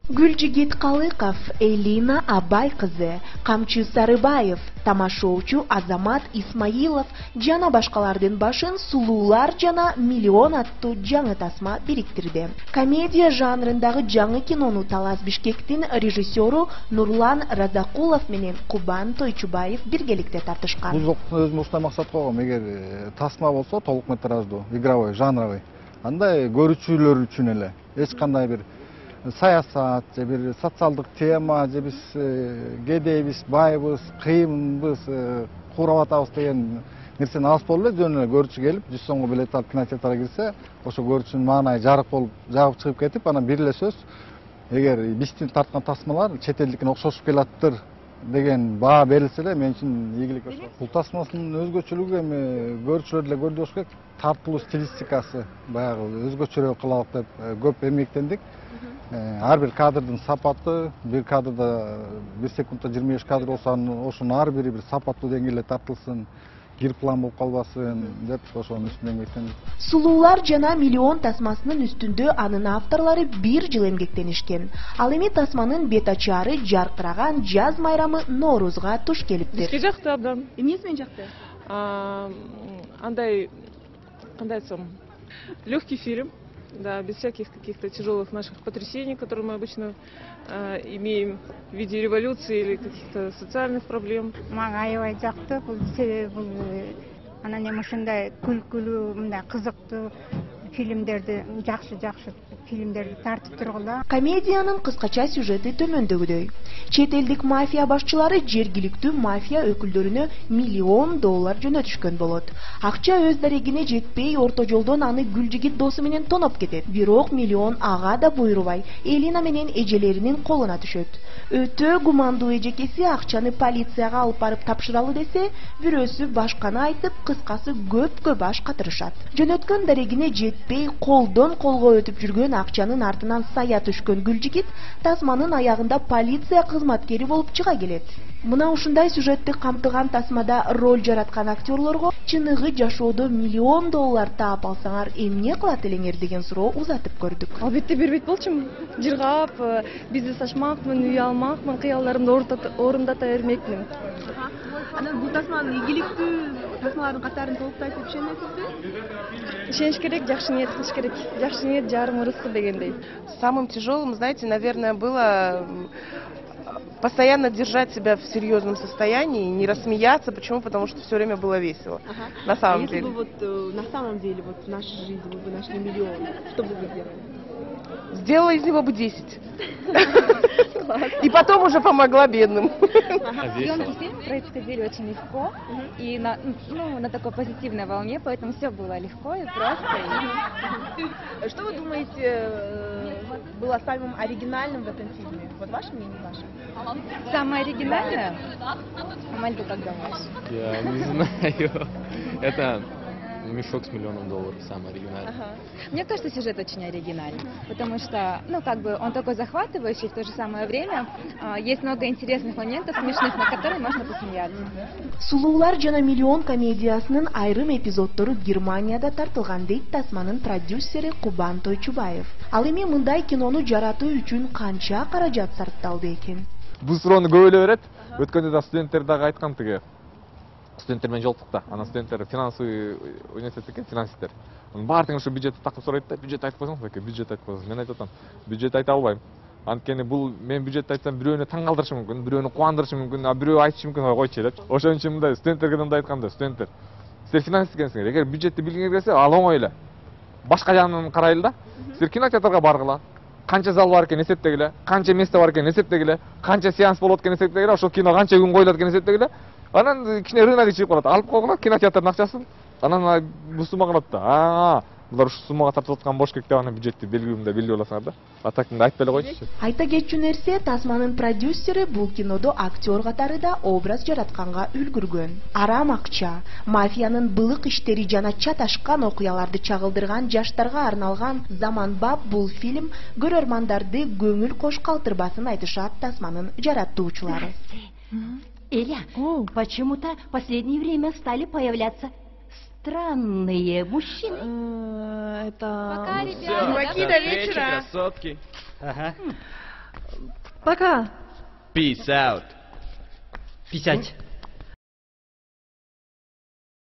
Гүлжигит Калыков, Элина Абай кызы, Камчы Сарыбаев, тамашоочу Азамат Исмаилов жана башкалардын башын сулуулар жана миллион аттуу жаңы тасма бириктирди. Комедия жанрындагы жаңы кинону Талас Бишкектин режиссеру Нурлан Разакулов менен Кубан Тойчубаев биргеликте тартышкан. Бул өзүм ушундай максат койгом, эгер тасма болсо толук метраждуу, игровой, жанровый, андай көрүүчүлөр үчүн эле эч кандай бир саясат же бир социалдык тема же биз кедейбиз, байбыз, кыйынбыз, курап атабыз деген нерсени алып болуп эле жөн эле көрүүчү келип 100 сомго билет алып кинотеатрга кирсе, ошо көрүүчүнүн маанайы жарык болуп жабып чыгып кетип, анан бир эле сөз, эгер биздин тарткан тасмалар чет элдикине окшошуп келаттыр деген баа берилсе эле мен үчүн ийгилик. Бул тасмасынын өзгөчөлүгү эми көрүүчүлөр деле көрдү болуш керек, тартылуу стилистикасы баягы өзгөчөрөөк кылалык деп көп эмгектендик. Ар бир кадрдын сапаты, бир кадрда 1 секундда 25 кадр болсо, ошонун ар бири бир сапаттуу деңгээлде тартылсын, кир план болуп калбасын деп ошонун үстүндө эмгектендик. Сулуулар жана миллион тасмасынын үстүндө анын авторлору 1 жыл эмгектенишкен. Ал эми тасманын бет ачаары жаркыраган жаз майрамы Ноорузга туш келиптир. Бизге жакты абдан. Эмнеси менен жакты? Андай, кандай айтсам, легкий фильм. Да, без всяких каких-то тяжелых наших потрясений, которые мы обычно имеем в виде революции или каких-то социальных проблем. Мага аябай жакты, бул себеби анан эми ушундай күлкүлүү, мындай кызыктуу фильмдерди, жакшы фильмдерди тартып тургула. Комедиянын кыскача сюжети төмөндөгүдөй. Чет элдик мафия башчылары жергиликтүү мафия өкүлдөрүнө $1 миллион жөнөтүшкөн болот. Акча өз дарегине жетпей, орто жолдон аны Гүлжигит досу менен тоноп кетет. Бирок миллион ага да буйрубай, Элина менен эжелеринин колуна түшөт. Өтө гумандуу эжекеси акчаны полицияга алып барып тапшыралы десе, бирөөсү башканы айтып, кыскасы көпкө баш катырышат. Жөнөткөн дарегине жетпей, колдон колго өтүп жүргөн акчанын артынан сая түшкөн Гүлжигит тасманын аягында полиция кызматкери болуп чыга келет. Мына ушундай сюжетти камтыган тасмада роль жараткан актерлорго чыныгы жашоодо $1 миллион таап алсаңар эмне кылат элеңер деген суроо узатып көрдүк. Албетте бербейт болчумун. Жыргап, бизнес ачмакмын, үй алмакмын, кыялдарымды орундата бермекмин. Анан бул тасманын ийгиликтүү тасмалардын катарын толуктайт деп ишенесизби? Ишениш керек, жакшы ниет кылыш керек. Жакшы ниет жарым ырыскы дегендей. Самым тяжелым, знаете, наверное, было постоянно держать себя в серьезном состоянии, не рассмеяться. Почему? Потому что все время было весело. На самом деле. Если бы вот на самом деле вот в нашей жизни вы бы нашли $1 миллион, что бы вы сделали? Сделала из него бы 10. И потом уже помогла бедным. Съемки фильма происходили очень легко и на такой позитивной волне, поэтому все было легко и просто. Что вы думаете было самым оригинальным в этом фильме? Вот ваше мнение, ваше? Самое оригинальное? Амаль, ты как думаешь? Я не знаю. Это мешок с $1 миллионом, самый оригинальный. Мне кажется, сюжет очень оригинальный, потому что, он такой захватывающий, в то же самое время есть много интересных моментов, смешных, на которые можно посмеяться. Сулуулар жана миллион комедиясынын айрым эпизоддору Германияда тартылган дейт тасманын продюсери Кубан Тойчубаев. Ал эми мындай кинону жаратуу үчүн канча каражат сарпталды экен? Бул суроону көп эле берет. Өткөндө да студенттер дагы айткан тиги. Студенттер менен жолуктук да. Анан студенттер финансовый университет экен, финансисттер. Баардыгын ушу бюджетти такып сурайт да, бюджет айтып койсоңуз экен, бюджет айтып койсоңуз. Мен айтып атам, бюджет айта албайм. Анткени бул мен бюджет айтсам бирөөнү таң калтырышы мүмкүн, бирөөнү кубандырышы мүмкүн, а бирөө айтышы мүмкүн, койчу деп. Ошон үчүн мындай студенттерге мындай айтканда, студенттер, силер финансист экенсиңер, эгер бюджетти билгиңер келсе, ал оңой эле. Башка жагынан карайлы да. Силер кинотеатрга баргыла. Канча зал бар экен эсептегиле, канча место бар экен эсептегиле, канча сеанс болот экен эсептегиле, ошол кино канча күн коюлат экен эсептегиле. Анан кичине рынок чыгып калат. Алып койгула кинотеатрдын акчасын. Анан бул суммага калат да. Булар ушу суммага тартып аткан бош керек деп анан бюджетти белгилүү аласыңар да. Атакыңды айтпай эле койчу. Айта кетчү нерсе, тасманын продюсери бул кинодо актер катары да образ жаратканга үлгүргөн. Арам акча, мафиянын былык иштери жана чаташкан окуяларды чагылдырган жаштарга арналган заманбап бул фильм көрөрмандарды көңүл кош калтырбасын айтышат тасманын жараттуучулары. Эля, почему-то в последнее время стали появляться странные мужчины. Это... Чуваки до вечера. Красотки. Пока. Peace out. Писать.